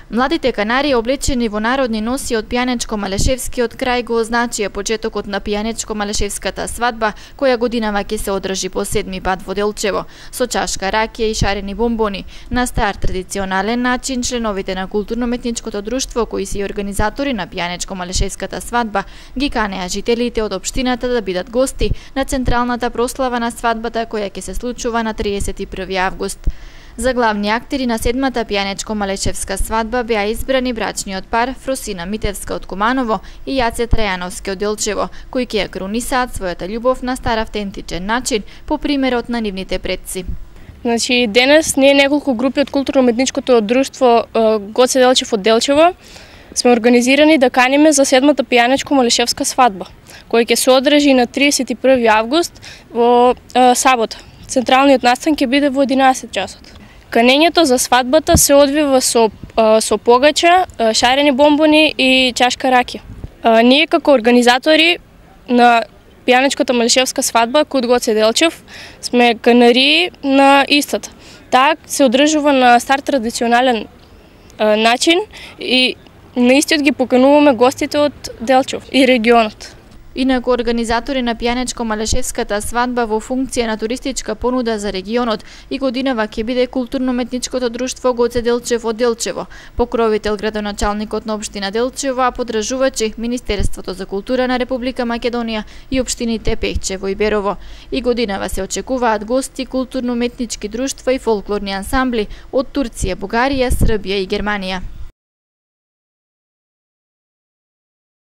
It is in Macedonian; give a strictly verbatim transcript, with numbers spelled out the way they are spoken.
Младите канари облечени во народни носи од пијанечко-малешевскиот крај го означија почетокот на пијанечко-малешевската свадба, која годинава ќе се одржи по седми пат во Делчево, со чашка ракија и шарени бомбони. На стар традиционален начин, членовите на културно-метничкото друштво, кои се и организатори на пијанечко-малешевската свадба, ги канеа жителите од општината да бидат гости на централната прослава на свадбата, која ќе се случува на триесет и први август. За главни актери на седмата пијанечко-малешевска свадба беа избрани брачниот пар Фросина Митевска од Куманово и Јаце Трајановски од Делчево, кои ќе ја кронисаат својата љубов на стар автентичен начин по примерот на нивните предци. Значи, денес ние неколку групи од културно-метничкото друштво Гоце Делчев од Делчево сме организирани да каниме за седмата пијанечко-малешевска свадба, која ќе се одржи на триесет и први август во е, сабота. Централниот настан ќе биде во единаесет часот. Канењето за свадбата се одвива со, со погача, шарени бомбони и чашка ракија. Ние како организатори на пијанечката малешевска свадба Кут Гоце Делчев сме канари на истата. Таа се одржува на стар традиционален начин и на истиот ги покануваме гостите од Делчев и регионот. Инаку организатори на пијанечко-малешевската свадба во функција на туристичка понуда за регионот и годинава ќе биде културно-метничкото друштво Гоце Делчев од Делчево, покровител градоначалникот на општина Делчево, а подржувачи Министерството за култура на Република Македонија и општините Пехчево и Берово. И годинава се очекуваат гости културно-метнички друштва и фолклорни ансамбли од Турција, Бугарија, Србија и Германија.